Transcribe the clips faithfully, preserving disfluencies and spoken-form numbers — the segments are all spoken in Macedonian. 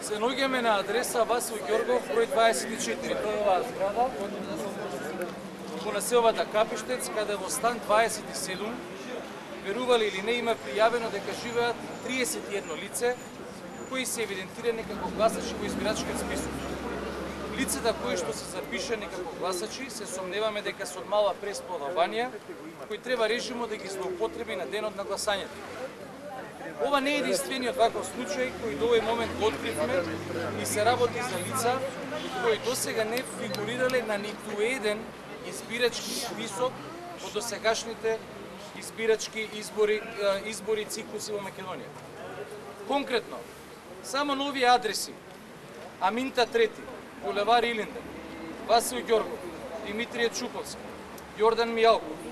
Се наоѓаме на адреса Васил Ѓоргов, број дваесет и четири. Тоа е оваа зграда во населбата Капиштец, каде во стан дваесет и седум, верували или не, има пријавено дека живеат триесет и едно лице кои се евидентирани како гласачи во избирачкиот список. Лицата кои што се запишани како гласачи се сомневаме дека се од мала преисполнувања кои треба режимот да ги злоупотреби на денот на гласањето. Ова не е единствениот ваков случај кој до овој момент го откривме и се работи за лица кои досега не фигурирале на ниту еден избирачки список во досегашните избирачки избори, избори циклуси во Македонија. Конкретно, само нови адреси: Аминта трети, булевар Илинден, Васил Ѓоргов, Димитрije Чуковски, Јордан Мијалков,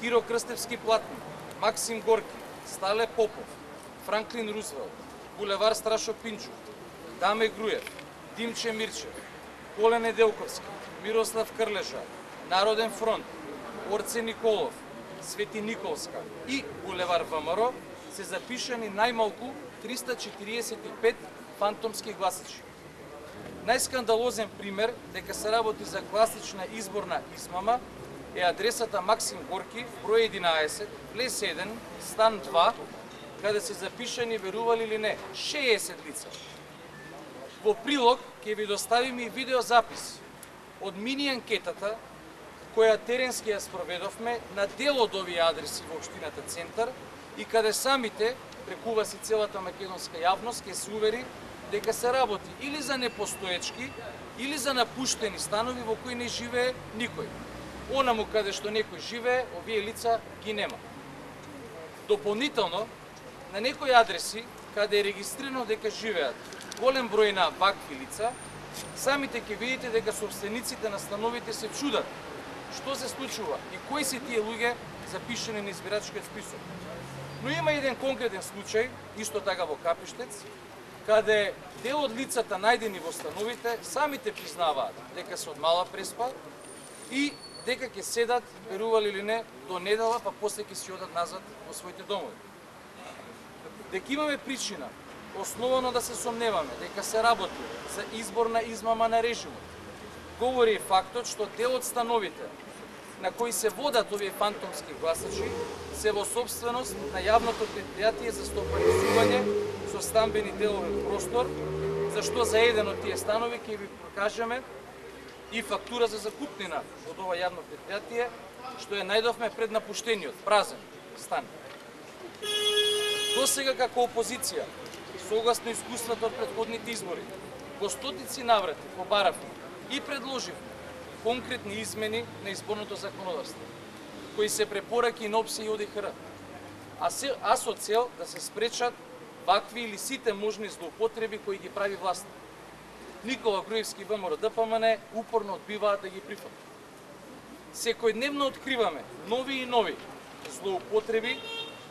Киро Крстевски Платни, Максим Горки, Стале Попов, Франклин Рузвелт, булевар Страшо Пинчук, Даме Груев, Димче Мирчев, Коле Неделковски, Мирослав Крлежа, Народен фронт, Орце Николов, Свети Николска и булевар ВМРО се запишани најмалку триста четириесет и пет фантомски гласачи. Најскандалозен пример дека се работи за класична изборна измама е адресата Максим Горки, број единаесет, влез еден, стан два, каде се запишани, верували или не, шеесет лица. Во прилог ќе ви доставиме и видеозапис од мини анкетата која теренски ја спроведовме на дел од овие адреси во општината Центар и каде самите, прекува си целата македонска јавност, ќе се увери дека се работи или за непостоечки, или за напуштени станови во кои не живее никој. Онаму каде што некој живее, овие лица ги нема. Дополнително, на некои адреси, каде е регистрирано дека живеат голем број на вакви лица, самите ќе видите дека собствениците на становите се чудат што се случува и кои се тие луѓе запишани на избирачкиот список. Но има еден конкретен случај, исто така во Капиштец, каде дел од лицата најдени во становите самите признаваат дека се од мала преспа и дека ќе седат, верували или не, до недела, па после ќе си одат назад во своите домови. Дека имаме причина основано да се сомневаме дека се работи за изборна измама на режимот, говори и фактот што дел од становите на кои се водат овие фантомски гласачи се во собственост на јавното предпријатие за стопанизување со стамбени деловен простор, за што за еден од тие станови ќе ви покажеме и фактура за закупнина од ова јавно предпријатие, што ја најдовме пред напуштениот, празен стан. Досега како опозиција, согласно искуството од претходните избори, во стотици наврати побаравме и предложивме конкретни измени на изборното законодавство, кои се препораки на ОПСЕ и ОДИХР, а, се, а со цел да се спречат вакви или сите можни злоупотреби кои ги прави власт. Никола Груевски и ВМРО ДПМН упорно одбиваат да ги прифатат. Секојдневно откриваме нови и нови злоупотреби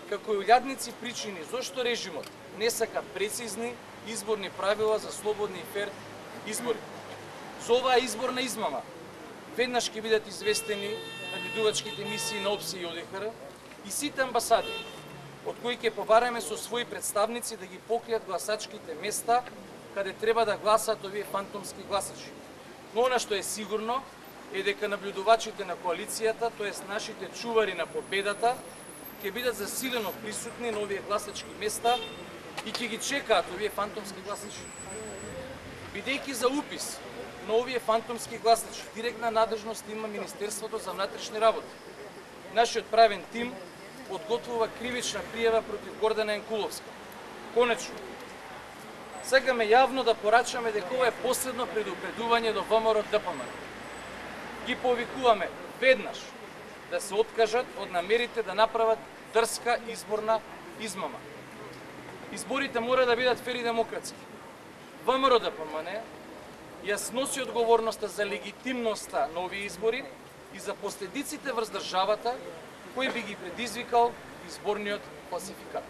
како и илјадници причини зошто режимот не сака прецизни изборни правила за слободни и фер избори. За оваа изборна измама веднаш ќе бидат известени наблюдувачките мисии на ОПСЕ и ОДИХР и сите амбасади, од кои ќе побараме со своји представници да ги покријат гласачките места каде треба да гласат овие фантомски гласачи. Но она што е сигурно е дека наблюдувачите на коалицијата, тоест нашите чувари на победата, ќе бидат засилено присутни на овие гласачки места и ќе ги чекаат овие фантомски гласачи. Бидејќи за упис на овие фантомски гласачи директна надлежност има Министерството за внатрешни работи. Нашиот правен тим подготвува кривична пријава против Гордана Јанкуловска. Конечно, сакаме јавно да порачаме дека ова е последно предупредување до ВМРО ДПМН. Ги повикуваме веднаш да се откажат од намерите да направат дрска изборна измама. Изборите мора да бидат фер и демократски. ВМРО ДПМН ја сноси одговорноста за легитимноста на овие избори и за последиците врз државата кои би ги предизвикал изборниот фалсификат.